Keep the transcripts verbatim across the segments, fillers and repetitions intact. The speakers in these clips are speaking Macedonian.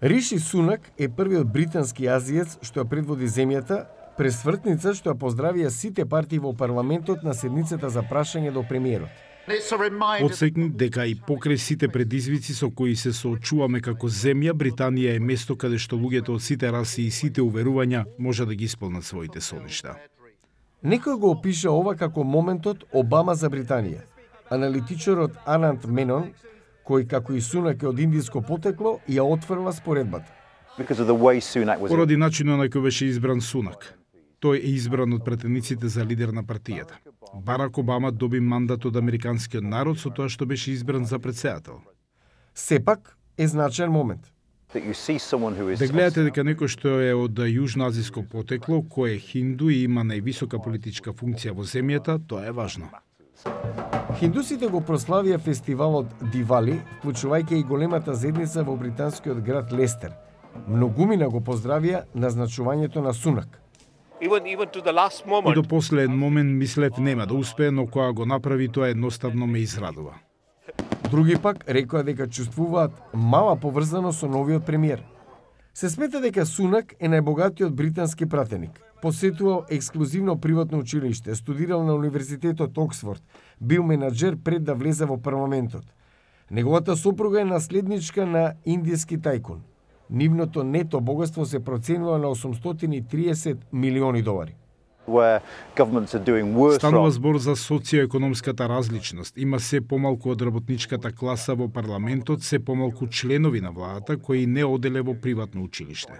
Риши Сунак е првиот британски азиец што ја предводи земјата, пресвртница што ја поздравија сите партии во парламентот на седницата за прашање до премиерот. Подсекни дека и покрај сите предизвици со кои се соочуваме како земја, Британија е место каде што луѓето од сите раси и сите уверувања може да ги исполнат своите соништа. Некој го опиша ова како моментот Обама за Британија. Аналитичарот Анант Менон, кој како и Сунак е од индиско потекло, ја отфрла споредбата. Поради начинот на кој беше избран Сунак. Тој е избран од претениците за лидер на партијата. Барак Обама доби мандат од американскиот народ со тоа што беше избран за претседател. Сепак е значаен момент. Да гледате дека некој што е од јужноазиско потекло, кој е хинду и има највисока политичка функција во земјата, тоа е важно. Хиндусите го прославија фестивалот Дивали, вклучувајќи и големата зедница во британскиот град Лестер. Многумина го поздравија назначувањето на Сунак. И до последен момент мислев нема да успее, но кога го направи, тоа едноставно ме израдува. Други пак рекоа дека чувствуваат мала поврзаност со новиот премиер. Се смета дека Сунак е најбогатиот британски пратеник. Посетувал ексклузивно приватно училиште, студирал на Универзитетот Оксфорд, бил менаџер пред да влезе во парламентот. Неговата сопруга е наследничка на индиски тајкун. Нивното нето богатство се проценува на осумстотини и триесет милиони долари. Станува збор за социоекономската различност. Има се помалку од работничката класа во парламентот, се помалку членови на владата кои не оделе во приватно училиште.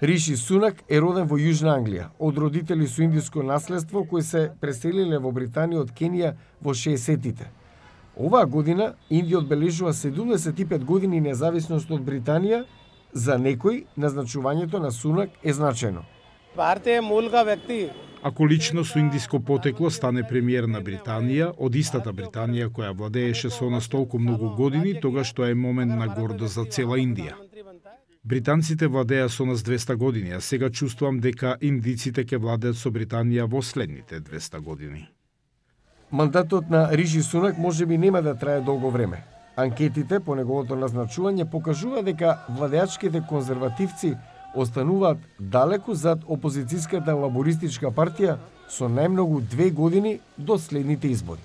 Риши Сунак е роден во Јужна Англија, од родители со индиско наследство кои се преселиле во Британија од Кенија во шеесеттите. Оваа година Индија одбележува седумдесет и пет години независност од Британија. За некој назначувањето на Сунак е значајно. Ако лично со индиско потекло стане премиер на Британија, од истата Британија која владееше со нас толку многу години, тогаш тоа е момент на гордост за цела Индија. Британците владеа со нас двеста години, а сега чувствувам дека индиците ќе владеат со Британија во следните двеста години. Мандатот на Риши Сунак можеби нема да трае долго време. Анкетите по неговото назначување покажува дека владеачките конзервативци остануваат далеку зад опозицијската лабористичка партија со најмногу две години до следните избори.